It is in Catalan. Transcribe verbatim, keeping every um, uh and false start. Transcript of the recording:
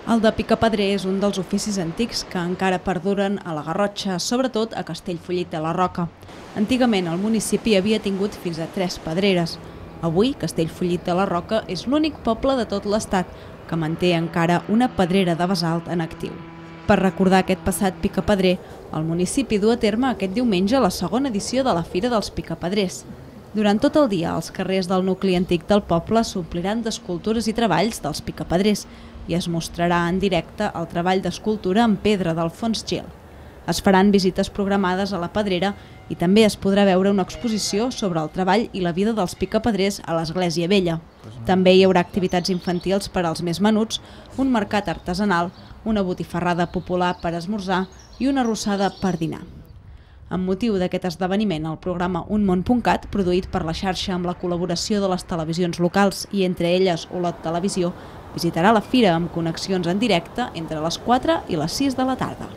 El de picapedrer és un dels oficis antics que encara perduren a la Garrotxa, sobretot a Castellfollit de la Roca. Antigament el municipi havia tingut fins a tres pedreres. Avui, Castellfollit de la Roca és l'únic poble de tot l'estat que manté encara una pedrera de basalt en actiu. Per recordar aquest passat picapedrer, el municipi du a terme aquest diumenge la segona edició de la Fira dels Picapedrers. Durant tot el dia, els carrers del nucli antic del poble s'ompliran d'escultures i treballs dels picapedrers i es mostrarà en directe el treball d'escultura en pedra d'Alfons Gil. Es faran visites programades a la pedrera i també es podrà veure una exposició sobre el treball i la vida dels picapedrers a l'Església Vella. També hi haurà activitats infantils per als més menuts, un mercat artesanal, una botifarrada popular per esmorzar i una arrossada per dinar. Amb motiu d'aquest esdeveniment, el programa Un Món punt cat, produït per la xarxa amb la col·laboració de les televisions locals i entre elles Olot Televisió, visitarà la fira amb connexions en directe entre les quatre i les sis de la tarda.